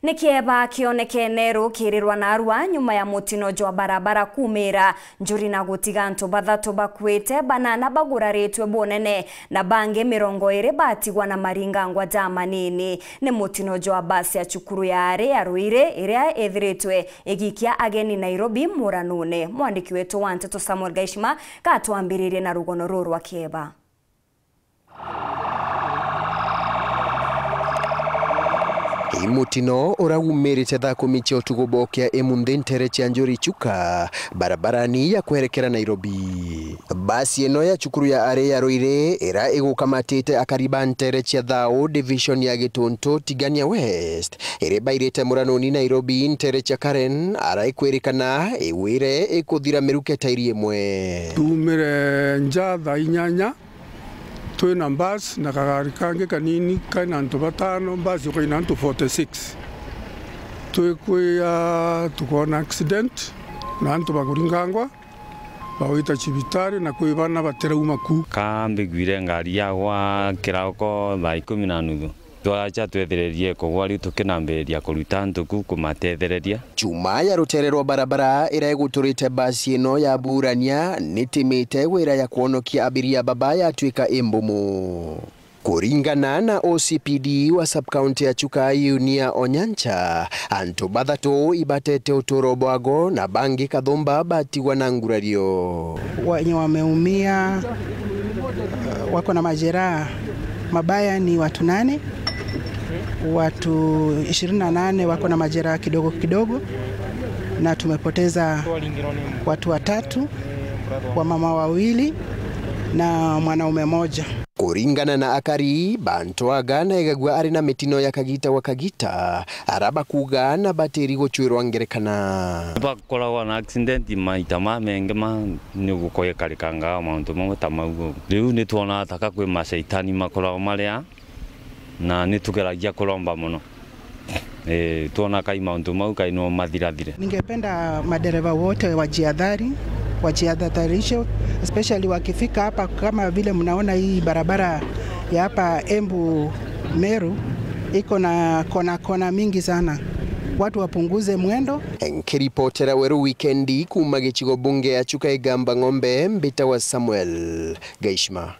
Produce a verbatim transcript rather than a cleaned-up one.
Ni kieba kionekene rukirirwa narua nyuma ya mutino jwa barabara kumira njuri na gutiga antu bathatu bakuite, banana baguraritwe bunene na bangi mirongo iri batigwa na maringangwa ja manini. Ni mutino jwa basi ya cukuru ya ari ya Ruiri iria ithiritwe igikia ageni Nairobi muranune. Mwandiki wetu wa nteto Samuel Gaishima gatwambiririe na rugono ruru rwa kieba. Ii mutino ura umirite thaa kumi cia utuku bokea imunthi ntere cia Njuri Chuka, barabarani ya kwerekera Nairobi. Basi ino ya cukuru ya ari ya Ruiri ira igukamatite akari ba ntere cia Thao, division ya Gituntu, Tigania West, iri bairite muranuni Nairobi ntere cia Karen, ara ikwirikana igwire ikuthira miruke tairi imwe. Tuumire nja thaa inyanya, twina bus na kagari kangi kanini kaina antu batano, bus yukaina antu forty-six. Twikwia tukoona accident na antu bakuringangwa, bagwita cibitari na kwi bana batirauma ku. Ka mbiguire ngari yagwa kirauko thaa ikumi na nuthu. Twacha twethererie kugwa, riu tukinambiriria kuruta antu ku kumatethereria. Chuma ya rutere rwa barabara ira iguturite basi ino ya Burania nitimite wira ya kwonokia abiria baba yatuika imbumu. Kuringana na O C P D wa sub-county ya Chuka, Yunia Onyancha, antu bathatu ibatete uturo bwago na bangi kathumba batigwa na ngurario. Wenye wameumia, eh, wako na majeraha mabaya ni watu nane, watu ishirini na nane wako na majeraha kidogo kidogo, na tumepoteza watu watatu, wamama wawili na mwanaume moja. Kuringana na akari, bantu aga na egagua ari na mitino ya kagita gwa kagita, ara bakuga na batiri gucwirwa ngerekana. Bakoragwa na accident maita mamengi ma ni gukoikarikanga mauntu mamwe ta mau. Riu ni twona taka kwi macaitani makoragwa maria, na ni tugeragia kuromba mono. Eh, twona kai mauntu mau kai no mathirathire. Ningependa madereva wote wajiadhari, wajiadhatarishe, especially wakifika hapa, kama vile mnaona hii barabara ya hapa Embu Meru iko na kona kona mingi sana. Watu wapunguze mwendo. Nkiripotera Weru Wikendi kuuma gicigo bunge ya Chuka Igamba Ng'ombe, mbitawa Samuel Gaishima.